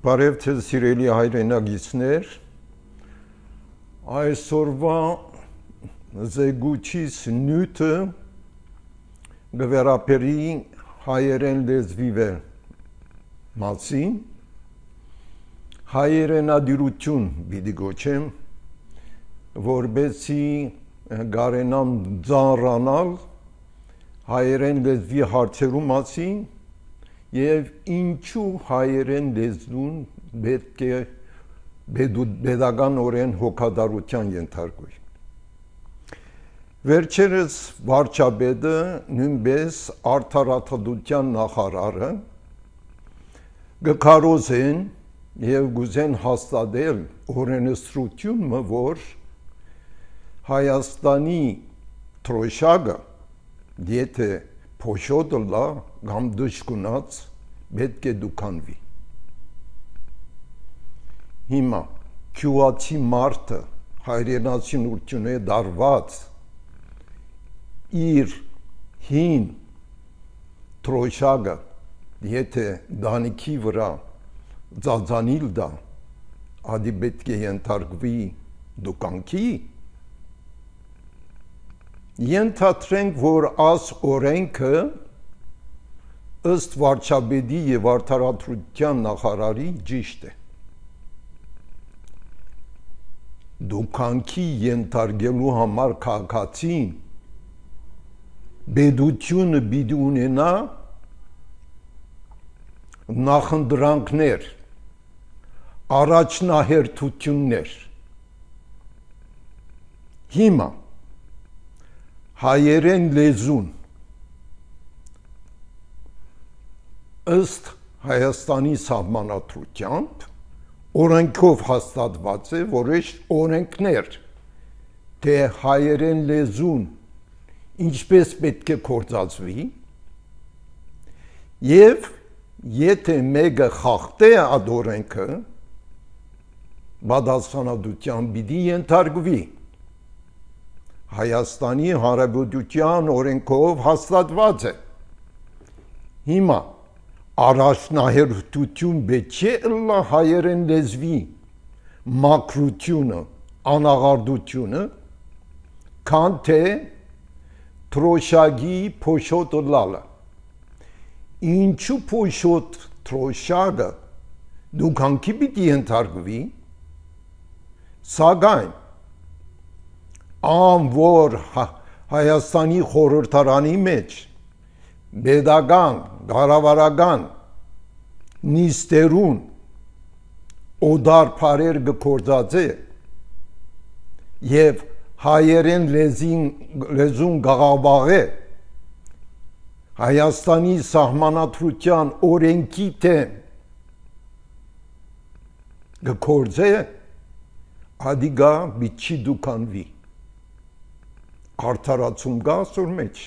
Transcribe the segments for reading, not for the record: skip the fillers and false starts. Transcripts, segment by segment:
Բարև ձեզ սիրելի հայրենագիտներ, այսօրվա զեկույցիս նյութը կվերապերի հայերեն լեզվի մասին, հայերենադիրություն պիտի գոչեմ, որպեսզի կարենամ ծանրանալ հայերեն լեզվի հարցերու մասին եւ ինչու հայերեն լեզուն պետք է pedagogan հոգադարության ենթարկվի։ Վերջերս վարչապետը նույնպես արդարադատության նախարարը գկարոզեն եւ գուզեն հաստատել օրենսդրությունը, որ Հայաստանի թրոշակը եթե փոշոտը լա կամ դժգունած պետք է դուքանվի։ Հիմա քյուացի մարդը հայրենասիրությունը դարված իր հին թրոշակը եթե դանիքի վրա ծածանիլ դա ադի պետք է ենթարկվի դուքանքի Ենթադրենք, որ աս օրենքը ըստ վարչապետի եւ արդարադատության նախարարի ճիշտ է։ Դուքանքի ենթարկելու համար քաղաքացին պետությունը պիտի ունենա նախընտրանքներ, առաջնահերթություններ։ Հիմա հայերեն լեզուն ըստ Հայաստանի սահմանադրությամբ օրենքով հաստատված է, որ այս օրենքներ թե հայերեն լեզուն ինչպես պետք է գործածվի եւ եթե մեկը խախտե այդ օրենքը պատասխանատվության պիտի ենթարկվի Հայաստանի Հանրապետության օրենքով հաստատված է։ Հիմա առաջնահերթություն պետք է ըլլա հայերեն լեզվի մաքրությունը, անաղարդությունը, քան թե թրոշակի փոշոտը լալը։ Ինչու փոշոտ թրոշակը դուքանքի պիտի ենթարկվի, սակայն որ Հայաստանի խորհրդարանի մեջ pedagogan, կառավարական նիստերուն օդար բարեր գործածե եւ հայերեն լեզուն գաղավաղե Հայաստանի սահմանադրության օրենքի դեմ գործե ադիգա բիչի դուքանվի արդարացում կա ասոր մեջ։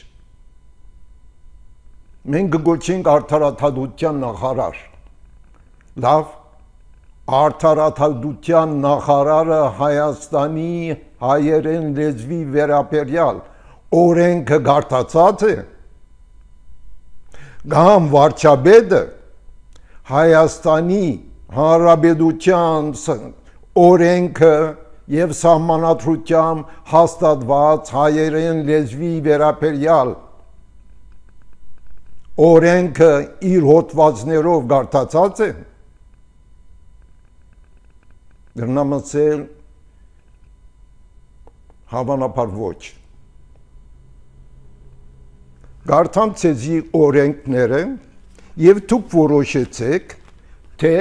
Մենք գոչենք արդարադատության նախարար։ Լավ, արդարադատության նախարարը Հայաստանի հայերեն լեզվի վերաբերյալ օրենքը գարտացած է։ Կամ վարչապետը Հայաստանի Հանրապետության օրենքը եւ սահմանադրությամբ հաստատված հայերեն լեզվի վերաբերյալ օրենքը իր հոդվածներով գարտացած է դրնամասել հավանաբար ոչ գարտամ ցեզի օրենքները եւ դուք որոշեցեք թե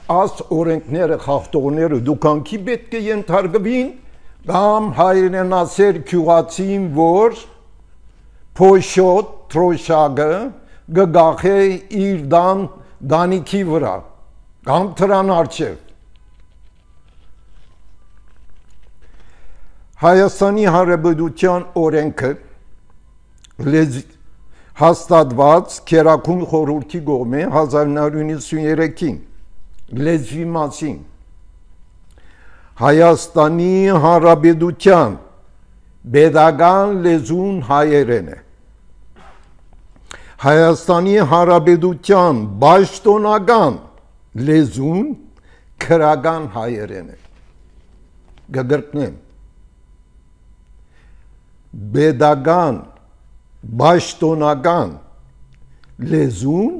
Աս օրենքները խախտողները դուքանքի պետք է ենթարկվին կամ հայրենասեր քյուղացին, որ փոշոտ թրոշակը գգախե իր դանիքի վրա կամ դրան առջև Հայաստանի Հանրապետության օրենքը հաստատված Քերակուն խորհրդի կողմէ 1993-ին լեզվի մասին Հայաստանի Հանրապետության pedagogan լեզուն հայերեն է Հայաստանի Հանրապետության պաշտոնական լեզուն քրական հայերեն է գգրտնեմ բեդական բաշտոնական լեզուն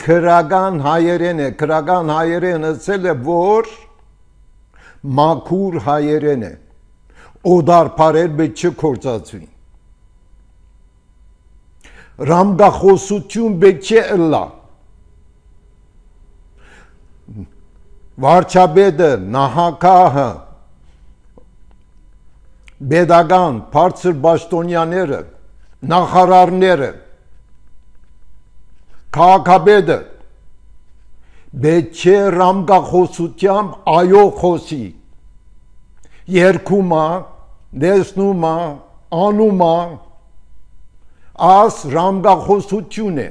քրական հայերեն է քրական հայերենը ցել է որ մաքուր հայերեն է օդարփարել պետք չի կործածվի ռամգախոսություն պետք չի ըլլա վարչապետը նահանգահը Բեդական բարձր բաշտոնյաները, նախարարները, քաղաքապետը պետք է ռամգախոսությամբ այո խոսի, երգում է, դեսնում է, անում է, աս ռամգախոսություն է,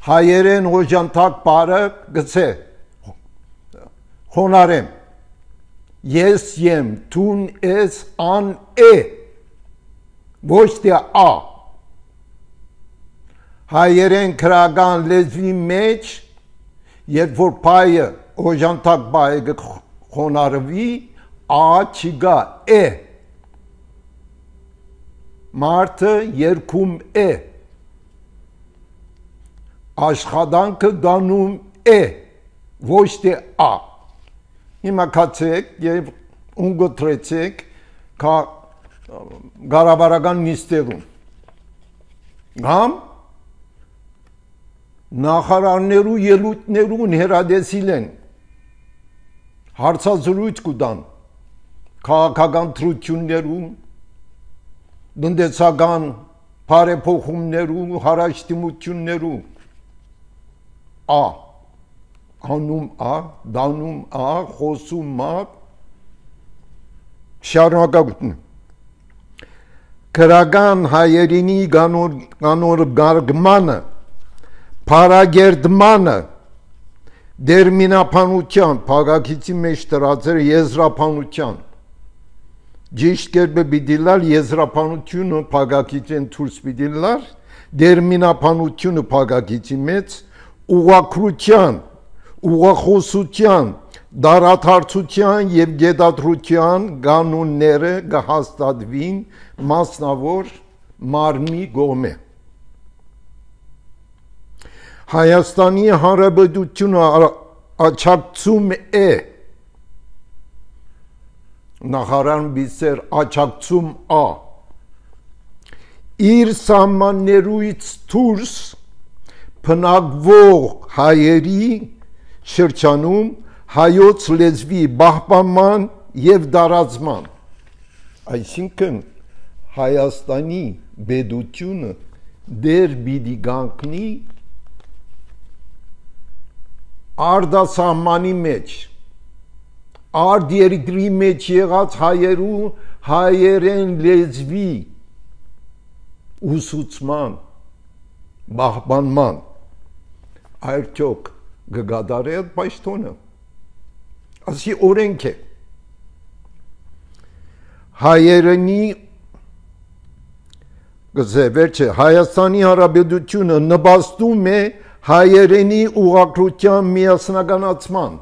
հայերեն օժանդակ բարը գցե, խոնարեմ, ես եմ տուն ես ան է ոչ թե ա հայերեն քրական լեզվի մեջ երբ որ բայը օժանդակ բայը խոնարհվի ա չգա է մարդը երգում է աշխատանքը դանում է ոչ թե ա Հիմա կացեք և ունգոտրեցեք գարավարական նիստերում գամ նախարարներու ելույթներուն հերադեսիլ են հարցազրույց կուտան քաղաքական թրություններու տնտեսական բարեփոխումներու հարաշտիմություններու ա անում ա, դանում ա, խոսում ա, շարունակություն քրական հայերինի կանոր գարգմանը, փարագերդմանը, դերմինապանության, փագակիցի մեջ տրածեր եզրապանության, ճիշտ կերպը պիտիլար եզրապանությունը փագակիցեն թուրս պիտիլար, դերմինապանությունը փագակիցի մեջ, ուղղակրության, ուղղախոսության, դարաթարցության և գետադրության կանոնները կհաստատվին մասնավոր մարմնի կողմէ։ Հայաստանի Հանրապետությունը աջակցում է նախարարն բիսեր աջակցում ա իր սահմաններուից դուրս բնակվող հայերի շրջանում հայոց լեզվի պահպանման և դարացման այսինքն Հայաստանի պետությունը դեր պիտի կանգնի արտասահմանի մեջ արտերկրի մեջ եղած հայերու հայերեն լեզվի ուսուցման պահպանման արդյոք կգադարի այդ պաշտոնը ասի օրենք է հայերենի վերջը Հայաստանի Հանրապետությունը նպաստում է հայերենի ուղղակրության միասնականացման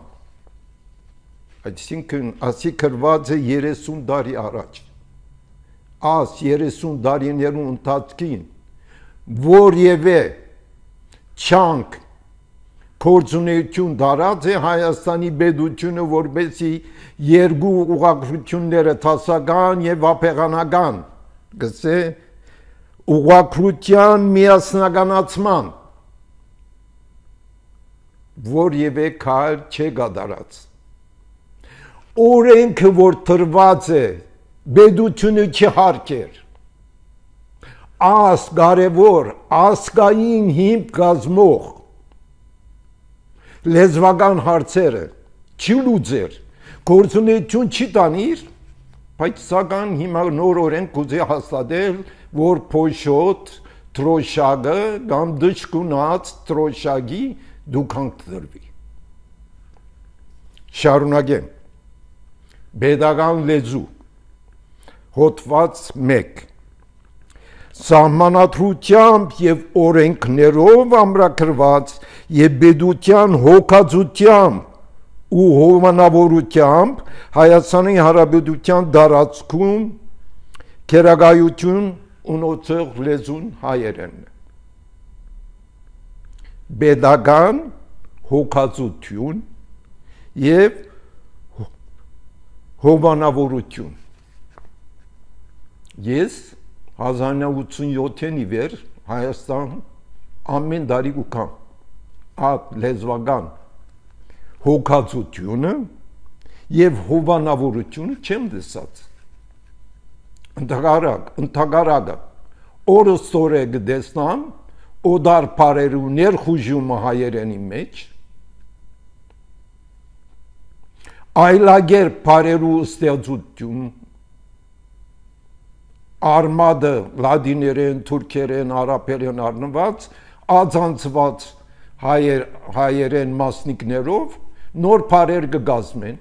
այսինքն ասի գրված է 30 տարի առաջ աս 30 տարիներու ընթացքին որևէ չանք գործունեություն դարած է Հայաստանի պետությունը որպեսզի երկու ուղղակրությունները տասական եւ ապեղանական գսե ուղղակրության միասնականացման որևէ քայլ չի կատարած օրենքը որ տրված է պետությունը չհարկեր աս կարևոր ազգային հիմք կազմող լեզվական հարցերը չի լուծեր գործունեություն չի տանիր բայց սակայն հիմա նոր օրենք կուզի հաստատել որ փոշոտ տրոշակը կամ դժկունած տրոշակի դուքանք դրվի շարունակեմ պետական լեզու հոդված 1 սահմանադրությամբ եւ օրենքներով ամրագրված եւ բեդության հոգացությամբ ու հովանավորությամբ Հայաստանի Հանրապետության դարածքում քերագայություն ունեցող լեզուն հայերենն է։ Պետական հոգացություն եւ հովանավորություն։ Ես 1987-ին ի վեր Հայաստան ամեն տարի ուկամ այդ լեզվական հոգացությունը եւ հովանավորությունը չեմ տեսած։ Ընդհանրակը օրստորե գտեսնամ օդար բարերու ներխուժումը հայերենի մեջ այլագեր բարերու ստեղծություն արմադը լադիներեն, թուրքերեն, արաբերեն առնված ածանցված հայերեն մասնիկներով նոր բարեր կգազմեն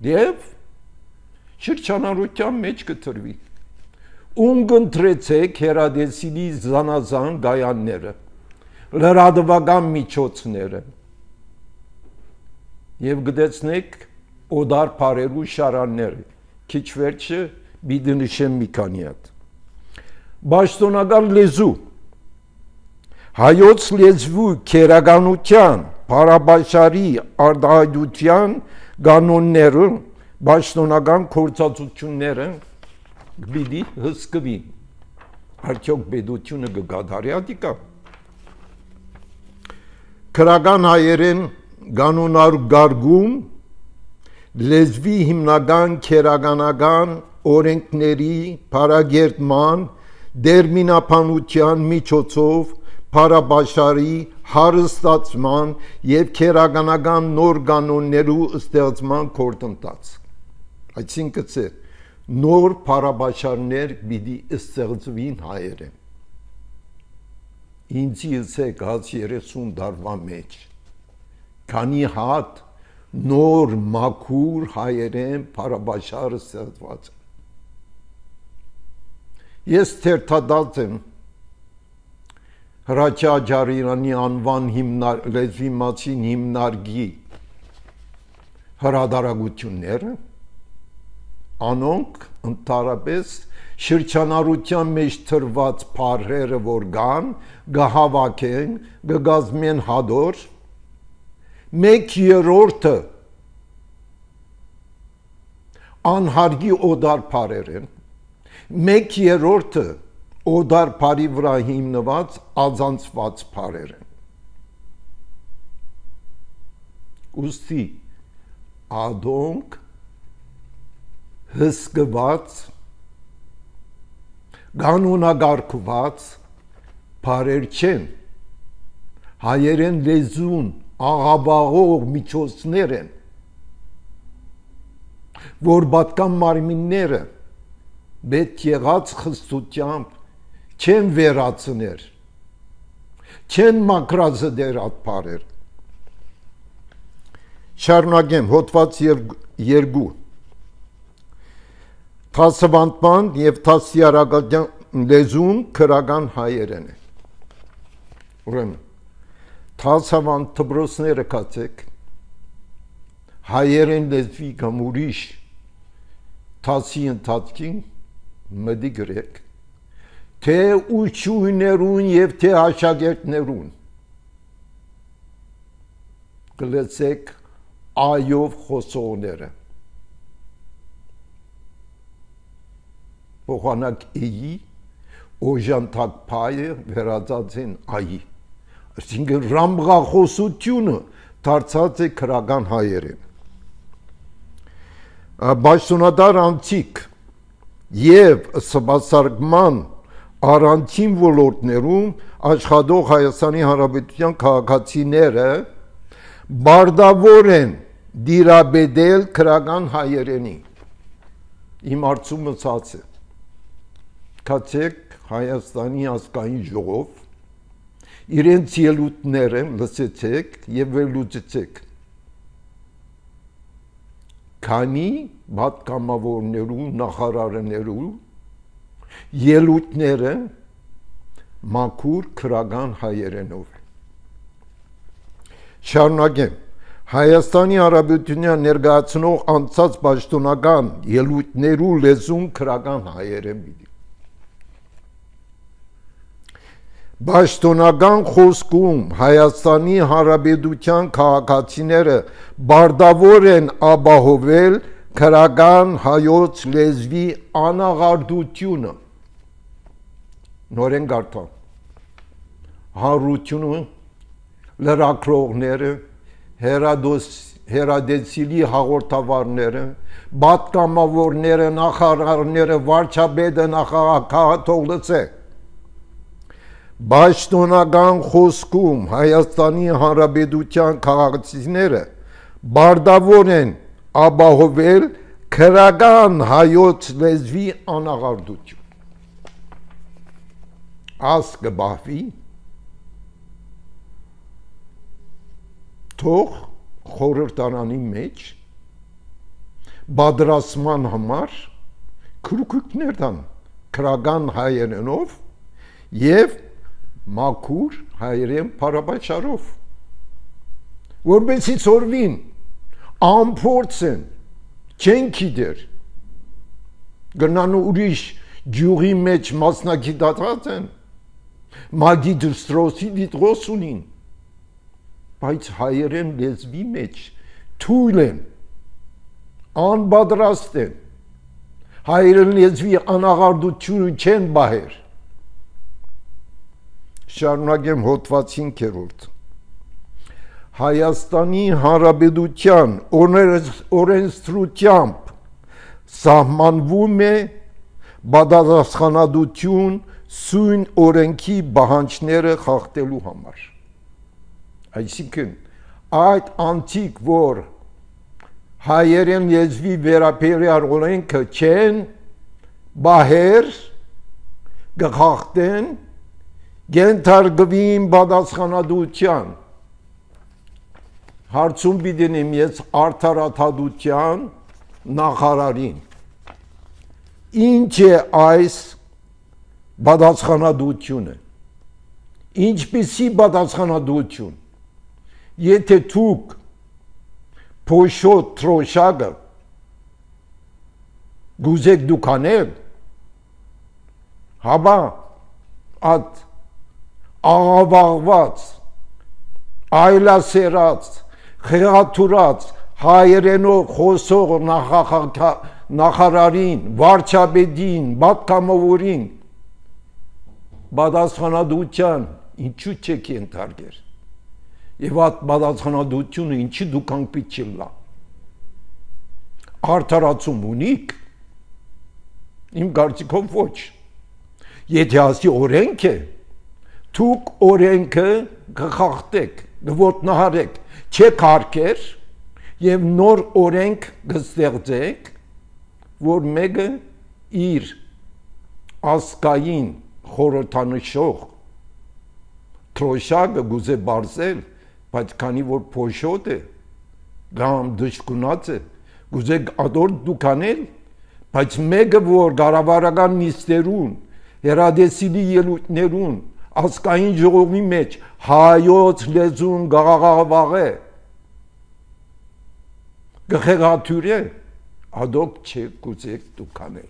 եւ շրջանառության մեջ կտրվի։ Ունգընտրեցեք հերադեսիլի զանազան գայանները, լրատվական միջոցները եւ գտեցնեք օդար բարերու շարանները, քիչ վերջը բիդը նշեմ մի քանի հատ։ Պաշտոնական լեզու հայոց լեզվու քերականության, բարաբաշարի արտահայտության կանոնները, պաշտոնական գործածությունները գիտի հսկվի։ Արդյոք պետությունը կգադարի ադիկա։ Քրական հայերեն կանոնարգարգում լեզվի հիմնական քերականական օրենքների փարագերտման դերմինապանության միջոցով բարաբաշարի հարստացման եւ քերականական նոր կանոններու ստեղծման գործընթաց։ Այսինքն նոր բարաբաշարներ պիտի ստեղծվին հայերեն։ Ինձ ելսեք 30 տարվա մեջ քանի հատ նոր մաքուր հայերեն բարաբաշարը ստեղծված։ Ես թերթադած եմ Հրաչյա Ջարյանի անվան լեզվի մասին հիմնարկի հրադարագությունները, անոնք ընդհանրապես շրջանառության մեջ թրված բառերը որ կան, կհավաքեն, կգազմեն հադոր, 1/3 անհարգի օդար բառեր են, 1/3 օդար բարի վրա հիմնված ածանցված բառեր են։ Ուստի ադոնք հսկված կանոնագարկված բառեր չեն, հայերեն լեզուն աղաբաղող միջոցներ են, որ պատկան մարմինները պետք եղած խստությամբ չեն վերացներ, չեն մակրազդեր այդ բառեր։ Շարունակեմ հոդված 2 Թասավանդման եւ թասիարակական լեզուն քրական հայերեն է։ Ուրեմն թասավանդ դպրոցները կացեք հայերեն լեզվի կամ ուրիշ թասի ընթացքին մտի գրեք թե ուչույներուն եւ թե աշակերտներուն գլեցեք այով խոսողները փոխանակ էի օժանտակ փայը վերածած են այի այսինքն ռամբղախոսությունը դարձած է քրական հայերեն Պաշտոնատար անցիկ եւ սպասարկման առանցին ոլորտներում աշխատող Հայաստանի Հանրապետության քաղաքացիները բարդավոր են դիրաբեդել քրական հայերենի։ Իմ արծումը ցած է։ Կացեք Հայաստանի ազգային ժողով իրենց ելույթները լսեցեք եւ վերլուծեցեք։ Քանի պատգամավորներու նախարարներու ելույթները մաքուր քրական հայերենով է։ Շարունակեմ։ Հայաստանի Հանրապետության ներկայացնող անցած պաշտոնական ելույթներու լեզուն քրական հայերեն պիտի։ Պաշտոնական խոսքում Հայաստանի Հանրապետության քաղաքացիները բարդավոր են ապահովել քրական հայոց լեզվի անաղարդությունը։ Նորեն գարտան։ Հանրությունը, լրագրողները, հերադեսիլի հաղորդավարները, պատգամավորները, նախարարները, վարչապետը, նախագահը Պաշտոնական խոսքում Հայաստանի Հանրապետության քաղաքացիները բարդավոր են ապահովել քրական հայոց լեզվի անաղարդություն։ Աս կբահվի, թող խորհրդարանի մեջ պատրաստման համար քրուքներ տան քրական հայերենով եւ մաքուր հայերեն փառաբաճարով, որպեսզի ծորվին, ամփորձեն, չեն գիտեր, գնան ուրիշ գյուղի մեջ մասնագիտացած են, մագիստրոսի դիտրոս ունին, բայց հայերեն լեզվի մեջ թույլ են, անպատրաստ են, հայերեն լեզվի անաղարդությունը չեն բահեր։ Շարունակեմ հոդված 5-րդ։ Հայաստանի Հանրապետության օրենսդրությամբ սահմանվում է պատասխանատվություն սույն օրենքի պահանջները խախտելու համար։ Այսինքն այդ անցիկ, որ հայերեն լեզվի վերաբերյալ օրենքը չեն բահեր կխախտեն գենթարգվին պատասխանատվության հարցում պիտենեմ ես արդարադատության նախարարին ինչ է այս պատասխանատվությունը ինչպիսի պատասխանատվություն եթե դուք փոշոտ թրոշակը գուզեք դուք անել հաբա այդ աղավաղված, այլասերած, խեղաթուրած, հայերենով խոսող նախարարին, վարչապետին, պատգամավորին պատասխանատվության ինչու չեք ենթարկել եւ այդ պատասխանատվությունը ինչի դուք անպիտի չլա արդարացում ունիք իմ կարծիքով ոչ եթե ասի օրենք է դուք օրենքը կխախտեք, կոտնահարեք, չեք հարկեր եւ նոր օրենք կստեղծեք, որ մեկը իր ասկային խորհրդանշող թրոշակը գուզե բարձել, բայց քանի որ փոշոտ է, կամ դժգունած է, գուզե ադոր դուք անել, բայց մեկը որ կառավարական նիստերուն, հերադեսիլի ելույթներուն ասկային ժողովի մեջ հայոց լեզուն գաղաղավաղ է գխեղաթյուր է ադոք չեք կուզեք դուք անել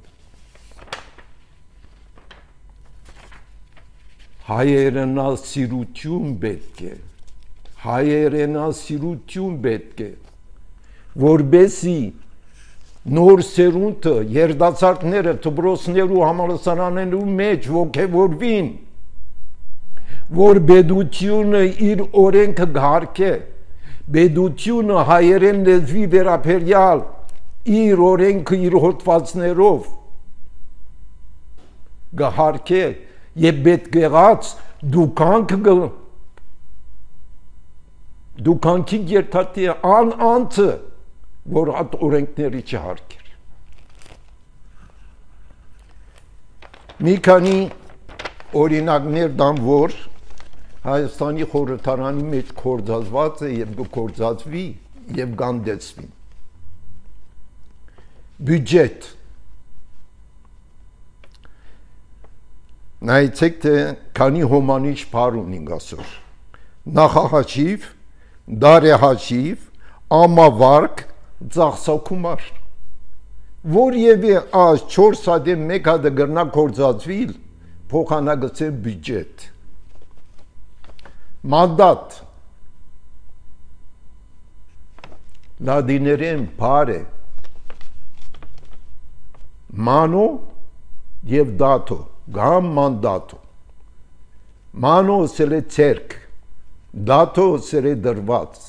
հայերենասիրություն պետք է որբեսի նոր սերունդը երդացարտները դպրոցներու համալսարաններու մեջ ոգևորվին որ բեդությունը իր օրենքը գարկե բեդությունը հայերեն լեզվի վերաբերյալ իր օրենքը իր հոդվածներով գարկե եւ պետք եղած դուքանքի երթատի անցը որ այդ օրենքների չհարկեր մի քանի օրինակներ դամ որ Հայաստանի խորհրդարանի մեջ կորձածված է եւ կորձածվի եւ գանդեցվի բյուջետ նայեցեք թե քանի հոմանիշ բառ ունենք այսօր նախահաշիվ դարեհաշիվ ամավարկ ծախսակումար որևէ այս 4 հատ 1 հատ գրնա կորզածվիլ փոխանագծել բյուջետ մանդատ լադիներեն բառ է մանո եւ դատո գամ մանդատո մանո սել է ցերկ դատո սել է դրված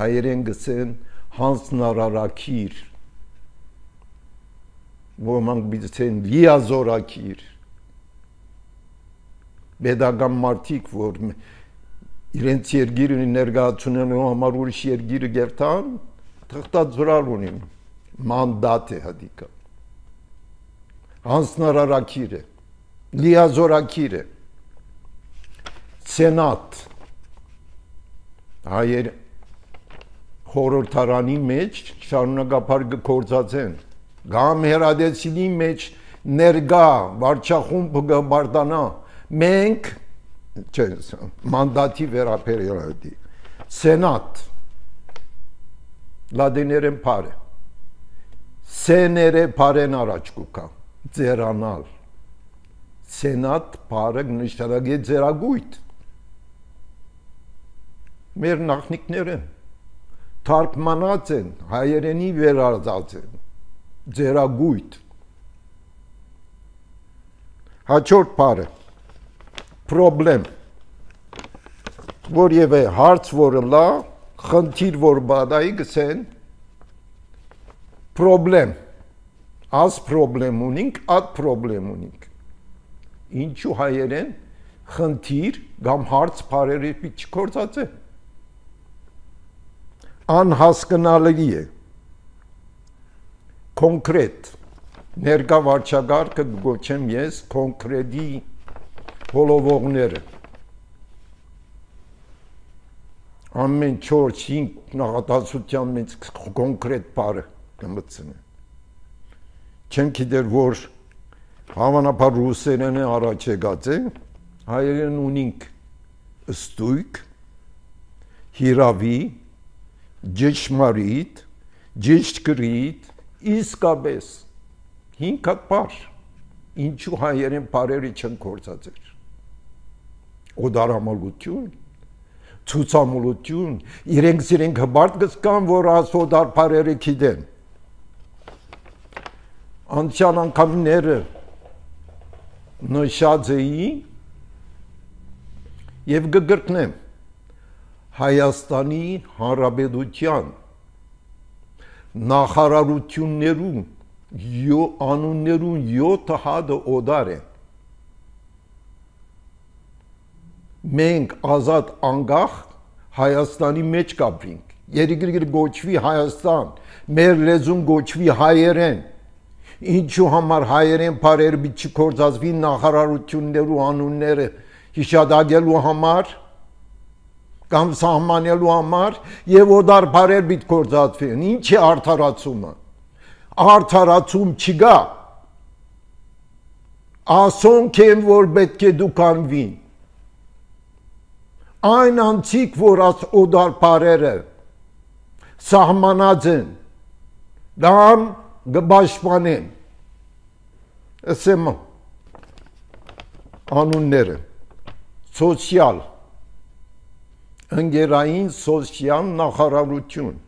հայերեն գսեն հանձնարարակիր ոմանք բիցեն լիազորակիր բեդական մարդիկ որ իրենց երգիրը ներկայացնելու համար ուրիշ երգիրը գերտան թղթած զորալ ունին մանդատ է հադիկա հանձնարարակիր է լիազորակիր է սենատ հայեր խորհրդարանի մեջ շարունակապար կգործածեն գամ հերադեսիլի մեջ ներգա վարչախումբը գբարտանա մենք մանդատի վերապերյալի սենատ լադիներեն բարը սեները բարեն առաջ կուկա ձերանալ սենատ բարը նշանակի ձերագույթ մեր նախնիկները թարգմանած են հայերենի վերածած են ձերագույթ հաջորդ բառը պրոբլեմ որևէ հարց որը լա խնդիր որ բադայի գսեն պրոբլեմ աս պրոբլեմ ունինք ատ պրոբլեմ ունինք ինչու հայերեն խնդիր կամ հարց բառերի պիչ կործած է անհասկանալի է կոնկրետ ներկա վարչագարկը գոչեմ ես կոնկրետի հոլովողները ամեն 4-5 նախատասության մեջ կոնկրետ բառը կմտցնեն չեմ գիտեր որ հավանաբար ռուսերենը առաջ եկած է հայերեն ունինք ստույգ հիրավի Ջեշմարիտ, ջեշկրիտ, իսկապես, 5 հատ բառ, ինչու հայերեն բառերը չեն կործածեր, օդարամոլություն, ցուցամոլություն, իրենք հբարդ գսկան, որ աս օդար բառերը գիտեն, անցյալ անգամները նշած էի և գգրտնեմ, Հայաստանի Հանրապետության նախարարություններում անուններուն 7 հատը օդար են մենք ազատ անկախ Հայաստանի մեջ կապրինք երիկիր գոչվի Հայաստան մեր լեզուն գոչվի հայերեն ինչու համար հայերեն բառերը պիտի կործածվի նախարարություններու անունները հիշադակելու համար կամ սահմանելու համար եւ օդար բառեր պիտի կործածվեն ինչ է արդարացումը արդարացում չկա ասոնք են որ պետք է դուք անվին այն անցիկ որ աս օդար բառերը սահմանած են դամ գբաշխանեն ասեմ անունները սոցիալ ընկերային սոցիալ նախարարություն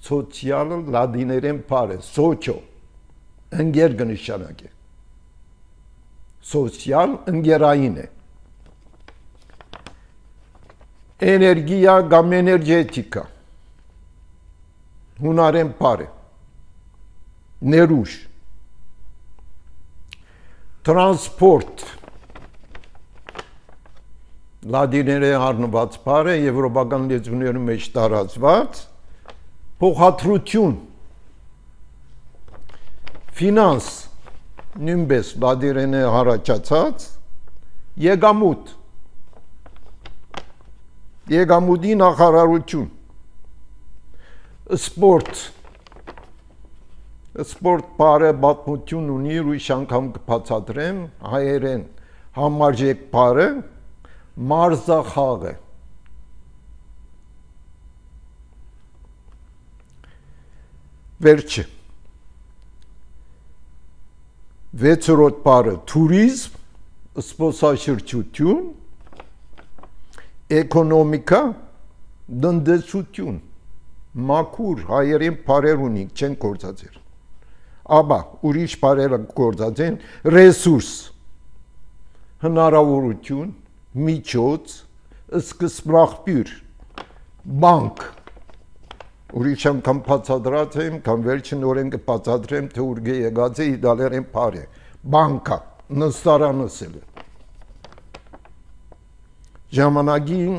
սոցիալը լադիներեն բառ է սոչո ընկեր կնշանակի սոցիալ ընկերային է էներգիա կամ էներգետիկա հունարեն բառ է ներուժ տրանսպորտ լադիներեն առնված բառ է եվրոպական լեզուներում մեջ տարածված փոխադրություն ֆինանս նույնպես լադիներեն առաջացած եկամուտ եկամուտի նախարարություն սպորտ Սպորտ բարը պատմություն ունի, ուրիշ անգամ կբացատրեմ, հայերեն համարժեք բարը մարզախաղը։ Վերջը։ 6-րդ բարը թուրիզմ, զբոսաշրջություն, էկոնոմիկա, տնտեսություն, մաքուր հայերեն բարեր ունենք, չեն գործածել։ Աբա ուրիշ բարերը գործածեն ռեսուրս, հնարավորություն, միջոց, սկզբնաղբյուր, բանկ։ Ուրիշ անգամ բացատրած եմ, կամ վերջին օրեն կբացատրեմ, թե ուր եկած է իտալերեն բառ է, բանկա, նստարանսել է։ Ժամանակին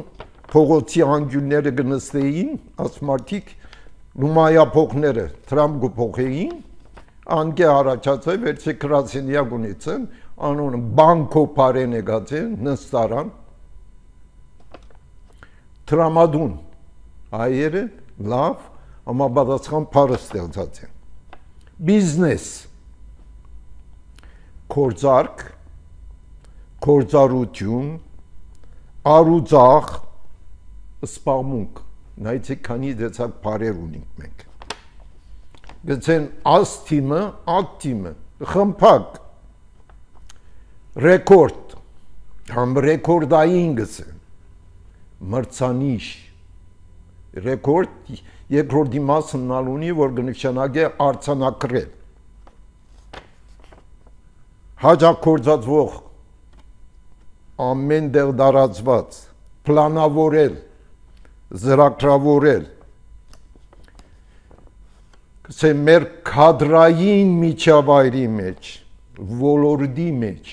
փողոցի անկյունները կնստեին, ասմարտիկ լումայափողները տրամ կփոխեին, անկե առաջացավ, վերջի գրասենյակ ունեցան, անունը բանկո բարեն եկած է, նստարան, տրամադուն, հայերը լավ, համապատասխան բառը ստեղծած են։ Բիզնես, գործարք, գործառություն, առուձախ, սպաղմունք, նայեցեք քանի դեցակ բառեր ունենք մենք։ Գցեն աստիմը, ակտիմը, խմփակ, ռեկորդ, համ ռեկորդային գցեն, մրցանիշ, ռեկորդ երկրորդի մասն ունի, որ կնշանակի արձանագրել, հաջակործածվող, ամեն տեղ տարածված, պլանավորել, ծրագրավորել, կսեմ մեր քադրային միջավայրի մեջ, ոլորտի մեջ,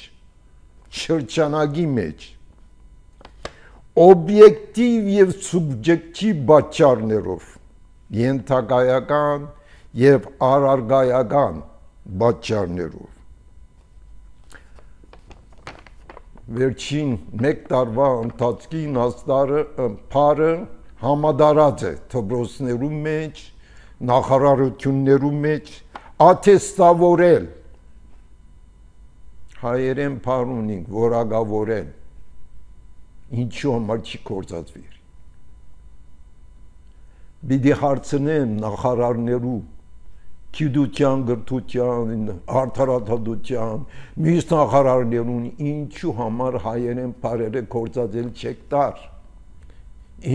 շրջանակի մեջ, օբյեկտիվ և սուբյեկտիվ պատճառներով, ենթակայական և առարգայական պատճառներով։ Վերջին մեկ տարվա ընթացքին բառը համադարած է դպրոցներում մեջ, նախարարություններում մեջ, աթեստավորել, հայերեն բառ ունենք, որակավորել, ինչու համար չի գործածվիր։ Պիտի հարցնեմ նախարարներու, գիտության, գրթության, արդարադատության, մյուս նախարարներուն, ինչու համար հայերեն բառերը գործածել չեք տար,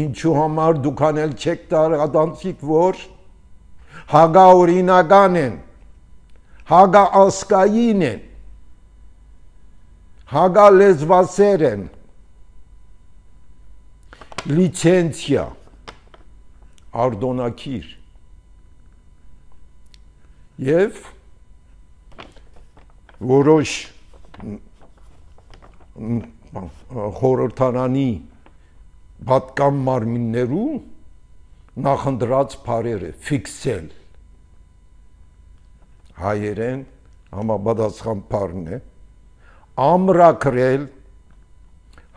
ինչու համար դուք անել չեք տար ադանցիկ, որ հագաօրինական են, հագաազգային են, հագալեզվասեր են, լիցենցիա, արդոնակիր և որոշ խորհրդարանի պատկան մարմիններու նախընտրած բառերը ֆիքսել, հայերեն համապատասխան բառն է, ամրագրել,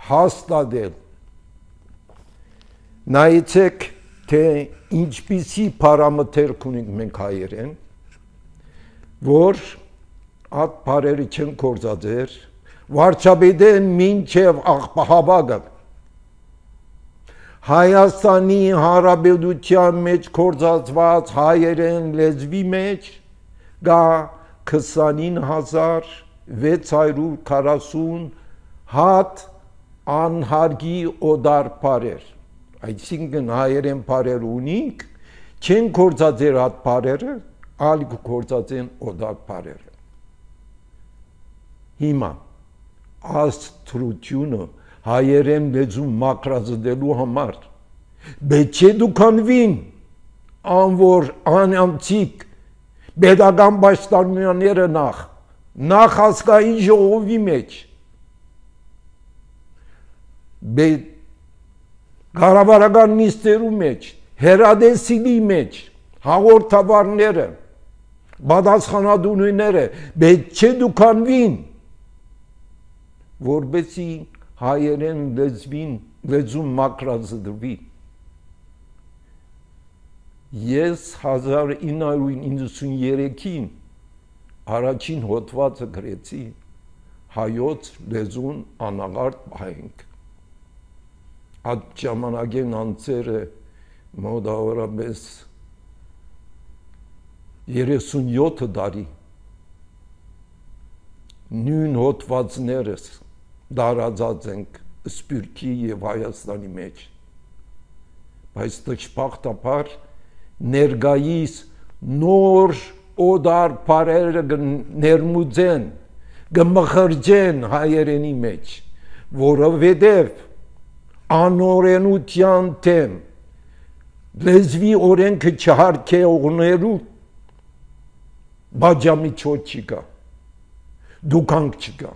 հաստատել, նայեցեք, թե ինչպիսի բառամթերք ունենք մենք հայերեն, որ այդ բառերը չեն գործածեր, վարչապետեն մինչև աղբահավագը Հայաստանի Հանրապետության մեջ գործածված հայերեն լեզվի մեջ գա 29640 հատ անհարգի օդար բառեր, այսինքն հայերեն բառեր ունենք, չեն գործածեր հատ բառերը, այլ գործածեն օդար բառերը։ Հիմա աստրությունը հայերեն լեզու մակրազդելու համար պետք է դուքանվին անոր անանցիկ պետական պաշտոնյաները նախ ազգային ժողովի մեջ կառավարական նիստերու մեջ հերադեսիլի մեջ հաղորդավարները պատասխանատուները պետք է դուքանվին որպեսզի հայերեն լեզուն մակրազդվի։ Ես 1993-ին առաջին հոդվածը գրեցի հայոց լեզուն անաղարտ պահենք։ Այդ ժամանակեն անձերը մոտավորապես 37 տարի նույն հոդվածներս դարածած ենք Սփյուռքի եւ Հայաստանի մեջ, բայց դժբախտաբար ներկայիս նոր օդար բարերը ներմուծեն գմխրջեն հայերենի մեջ, որովհետև անօրենության թեմ լեզվի օրենքը չհարգողներու բաժամիջոց չկա, դուքանք չկա։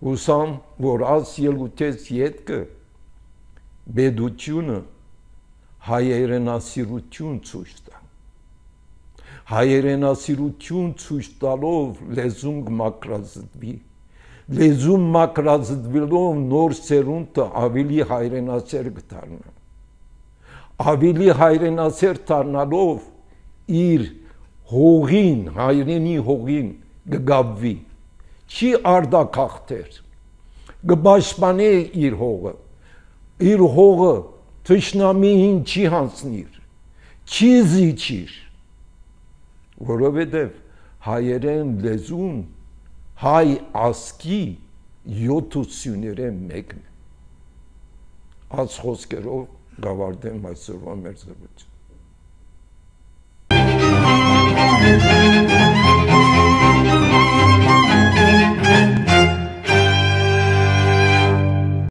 Հուսամ, որ աս ելույթից ետքը բեդությունը հայերենասիրություն ցույց տա։ Հայերենասիրություն ցույց տալով լեզուն կմաքրազտվի։ Լեզուն մաքրազտվելով նոր սերունդը ավելի հայրենասեր կդառնա։ Ավելի հայրենասեր դառնալով իր հողին, հայրենի հողին կգավվի։ Չի արդակախտեր, կպաշտպանի իր հողը թշնամիին չի հանձնիր, չի զիջիր, որովհետև հայերեն լեզուն հայ ազգի 70-ին մեկն է։ Այս խոսքերով գավարտեմ այսօրվա մեր զրույցը։